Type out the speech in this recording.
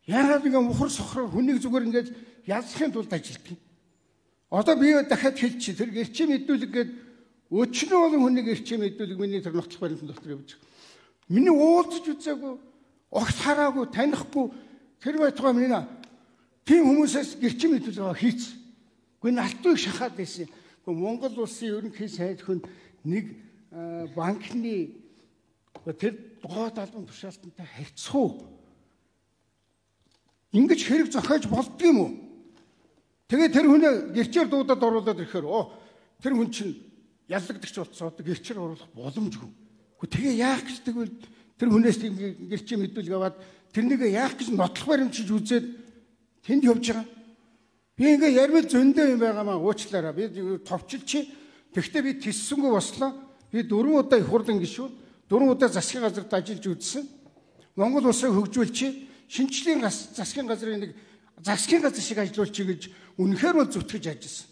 Яагаад ингэ мухар сохроо хүнийг зүгээр ингэж ялсахын тулд ажилтдаг. Одоо би дахиад хэлчих. Тэр гэрчим мэдүүлэг гээд өчнөө олон хүнийг гэрчим мэдүүлэг миний тэр нотлох баримтан дотор явж байгаа. Миний уулзж үзээгүй, огт хараагүй, танихгүй тэр байтугай минь тийм хүмүүсээс гэрчим мэдүүлэг хийц. Гэхдээ алтыг шахаад байсан. Гэхдээ Монгол улсын ерөнхий сайд хүн нэг банкны тэр гоод албан тушаалтантай харьцах. Ингэж хэрэг зохиож болдгийм үү? Тэгээ тэр хүнээ гэрчээр дуудаад оруулаад ирэхээр тэр хүн чинь яллагдагч болцоод гэрчээр оруулах боломжгүй. Гэхдээ тэгээ яах гэж тэгвэл тэр хүнээс тийм гэрчээ мэдүүлэг аваад тэрнийг яах гэж нотлох баримтчиж үзээд тэнд явж байгаа. Би ингээ ярмал зөндөө юм байгаамаа уучлаарай. Би товчилчи. Тэгвэл би тиссэнгүй бослоо. Би 4 удаа их хурлын гишүүн, 4 удаа засгийн газарт ажиллаж үзсэн. Монгол улсыг хөгжүүлчих, шинжлэлийн засгийн газрын нэг засгийн газар шиг ажиллуулчих гэж үнэхээр бол зүтгэж ажилласан.